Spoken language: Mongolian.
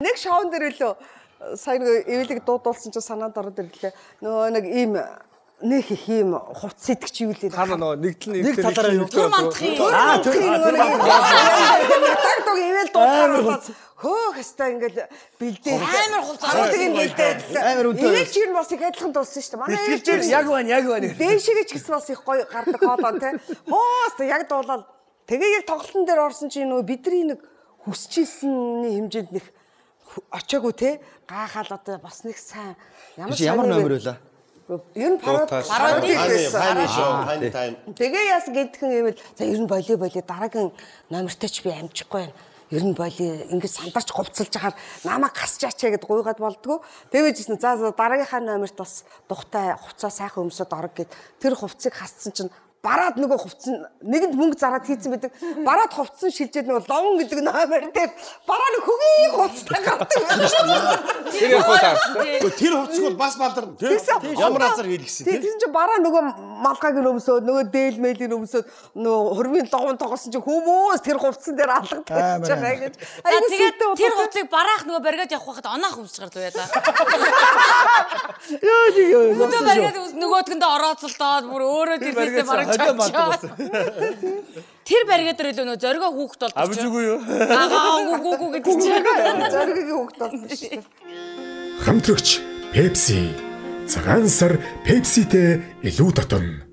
нэг шоун дээр лөө сайн эвлэг дуудуулсан чинь санаанд ороод ирлээ. Нөгөө нэг ийм нэг их ийм хувц сэтгч юу лээ. Хана нөгөө нэг талаараа юу төр мандахын тагтог ивэл дуудахаар хөөх хэвээр ингээл бэлдээ амар хувцас ингээл амар үнэтэй. Энийг чинь бас их адилхан дууссан шүү дээ. Манай Бэлтгэж яг байна. дээшгээ ч гэсэн бас их гоё гардаг хоолоо те. Хөөс яг дуулаад тэгээ яг тоглолтын дээр орсон чинь нөгөө бидний нэг хүсчихсэний хэмжээнд нэг очоогүй те. Гайхаад одоо бас нэг сайн ямар номер вэ? Ер нь пароди тайм. Тэгээ яас гэдгэн ивэл за ер нь болио дараагийн номертой ч би амжихгүй байна. Ер нь болио ингэж сандарч говцолж байгаа намайг гасчаач гэд гуйгаад болдгоо. тэгэж ирсэн. За дараагийнхаа номерт бас тухтай хувцас сайхан өмсөд орог гэд тэр хувцсыг хассан чинь бараад нөгөө хувцс нэгэнд мөнгө зараад хийцэн байдаг. Бараад хувцсан шилжээд нөгөө ловн гэдэг номер дээр бараа нэг хөгийн хувцтай гардаг. Тэр хувцсыг бол бас балдарна тийм. Ямар азар хийлгэсэн тийм. Тэгсэн чинь бараа нөгөө малгайг өмсөөд нөгөө дээл мэйлийн өмсөөд нөгөө хөрмийн ловн тоглосон чинь хүмүүс тэр хувцсан дээр алгадаж байгаа гэж. Тэгээд тэр хувцсыг бараах нөгөө баригад явах байхад оноох өмсч гарлаа яа. Нөгөө баригад нөгөөдгөндөө орооцолдоод бүр өөрөө тэрнээсээ бараг тэр баригад дээр нөө зоригоо хүүхд болдог. Авжгүй юу? Гүү гэдэг чинь. Зоригийн хүүхд болсон шүү дээ. Хамтрагч Pepsi. Цагаан сар Pepsi-тэй илүү дотн.